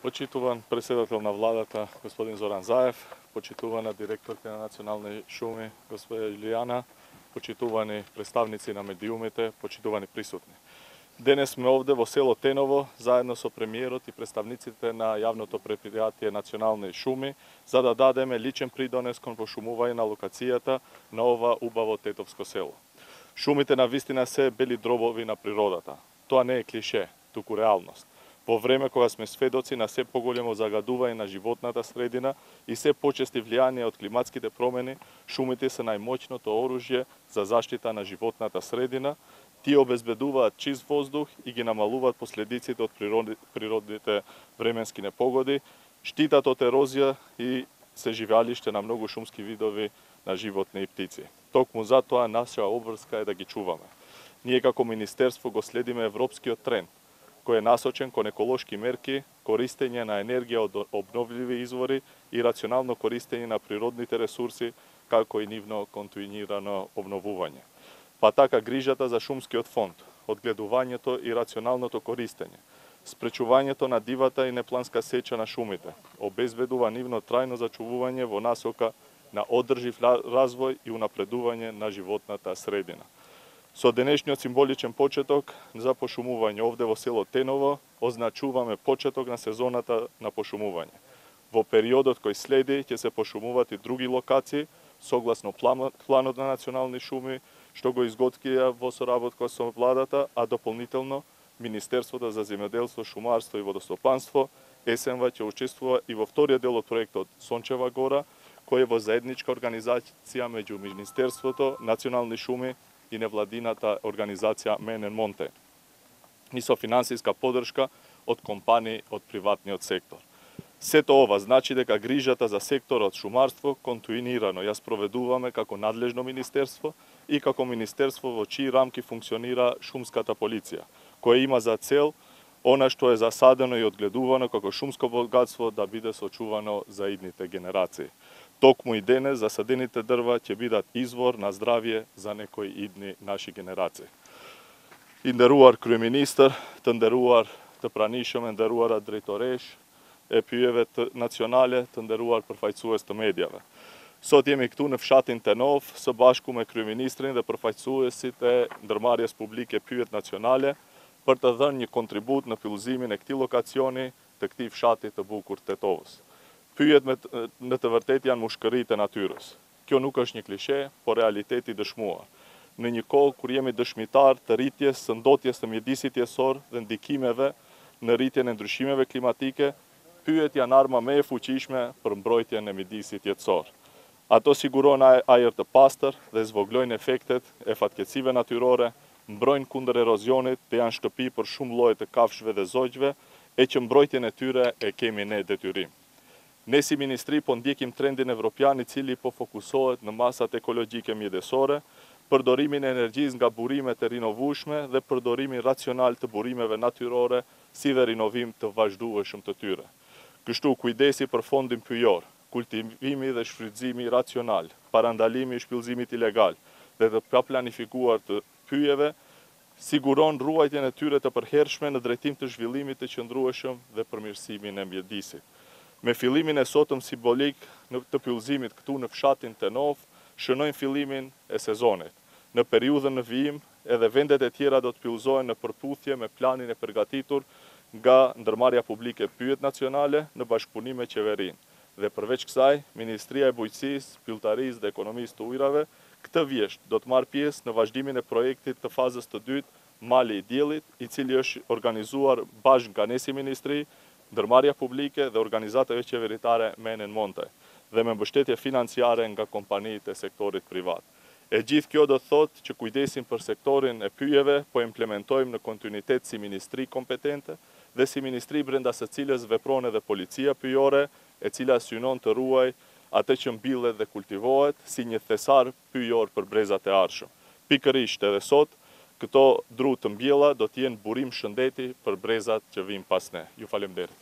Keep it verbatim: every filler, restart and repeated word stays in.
Почитуван председател на владата, господин Зоран Заев, почитувана директорка на Национални шуми, господја Илијана, почитувани представници на медиумите, почитувани присутни. Денес сме овде во село Теново, заедно со премиерот и представниците на јавното предпријатие Национални шуми, за да дадеме личен придонес кон пошумување на локацијата на ова убаво тетовско село. Шумите на вистина се бели дробови на природата. Тоа не е клише, туку реалност. Во време кога сме сведоци на се поголемо загадување на животната средина и се почести влијание од климатските промени, шумите се најмоćното оружје за заштита на животната средина. Тие обезбедуваат чист воздух и ги намалуваат последиците од природните временски непогоди, штитат од ерозија и се живеалиште на многу шумски видови на животни и птици. Токму затоа наша обврска е да ги чуваме. Ние како Министерство го следиме европскиот тренд, кој е насочен кон еколошки мерки, користење на енергија од обновливи извори и рационално користење на природните ресурси, како и нивно континуирано обновување. Па така грижата за шумскиот фонд, одгледувањето и рационалното користење, спречувањето на дивата и непланска сеча на шумите, обезбедува нивно трајно зачувување во насока на одржив развој и унапредување на животната средина. Со денешниот символичен почеток за пошумување овде во село Теново, означуваме почеток на сезоната на пошумување. Во периодот кој следи ќе се пошумуваат и други локации, согласно планот на Национални шуми, што го изготвија во соработка со владата, а дополнително Министерството за земјоделство, шумарство и водостопанство, СМВ ќе учествува и во вториот дел од проектот Сончева гора, кој е во заедничка организација меѓу Министерството, Национални шуми и невладината организација Мен енд Монте, и со финансиска поддршка од компании од приватниот сектор. Сето ова значи дека грижата за секторот шумарство континуирано ја спроведуваме како надлежно министерство и како министерство во чии рамки функционира шумската полиција, која има за цел она што е засадено и одгледувано како шумско богатство да биде сочувано за идните генерации. Токму и денес засадените дрва ќе бидат извор на здравје за некои идни наши генерации. Индеруар крюминистер, тендеруар të pranishëm, nderuara drejtoresh, e pyjeve të nacionale, të nderuar përfaqësues të medjave. Sot jemi këtu në fshatin Tenov, së bashku me kryeministrin dhe përfaqësuesit e ndërmarrjes publike pyjet nacionale, për të dhënë një kontribut në fillëzimin e këtij lokacioni të këtij fshati të bukur Tetovës. Pyjet me në të vërtetë janë mushkëritë e natyrës. Kjo nuk është një klishe, por realiteti dëshmuar. Në një kohë kur jemi dëshmitar të rritjes së ndotjes të mjedisit jetësor dhe ndikimeve në rritjen e ndryshimeve klimatike, pyjet janë arma më e fuqishme për mbrojtjen e mjedisit jetësor. Ato sigurojnë ajër të pastër dhe zvoglojnë efektet e fatkeqësive natyrore, mbrojnë kundër erozionit dhe janë shtëpi për shumë lloje të kafshëve dhe zogjve, e që mbrojtjen e tyre e kemi ne detyrim. Ne si ministri po ndjekim trendin evropian i cili po fokusohet në masat ekologjike mjedisore, përdorimin e energjisë nga burimet e rinovueshme dhe përdorimin racional të burimeve natyrore, si dhe rinovim të vazhdueshëm të tyre. Kështu kujdesi për fondin pyjor, kultivimi dhe shfrytëzimi racional, parandalimi i shpillëzimit ilegal dhe të paplanifikuar të pyjeve, siguron ruajtjen e tyre të përhershme në drejtim të zhvillimit të qëndrueshëm dhe përmirësimin e mjedisit. Me fillimin e sotëm simbolik në të pyllëzimit këtu në fshatin Tenov, shënojnë fillimin e sezonit. Në periudhën në vijim, edhe vendet e tjera do të pyllëzohen në përputhje me planin e përgatitur nga ndërmarrja publike pyjet nacionale në bashkëpunim me qeverinë. Dhe përveç kësaj, Ministria e Bujqësisë, Pylltarisë dhe Ekonomisë të Ujrave këtë vjesht do të marrë pjesë në vazhdimin e projektit të fazës të dytë Mali i Diellit, i cili është organizuar bashkë nga ne si ministri, ndërmarrja publike dhe organizatave qeveritare Men eнд Monte, dhe me mbështetje financiare nga kompanitë e sektorit privat. E gjithë kjo do të thotë që kujdesim për sektorin e pyjeve po implementojmë në kontinuitet si ministri kompetente dhe si ministri brenda së cilës vepron edhe policia pyjore, e cila synon të ruaj atë që mbillet dhe kultivohet si një thesar pyjor për brezat e ardhshëm. Pikërisht edhe sot, këto dru të mbjella do të jenë burim shëndeti për brezat që vijnë pas ne. Ju faleminderit.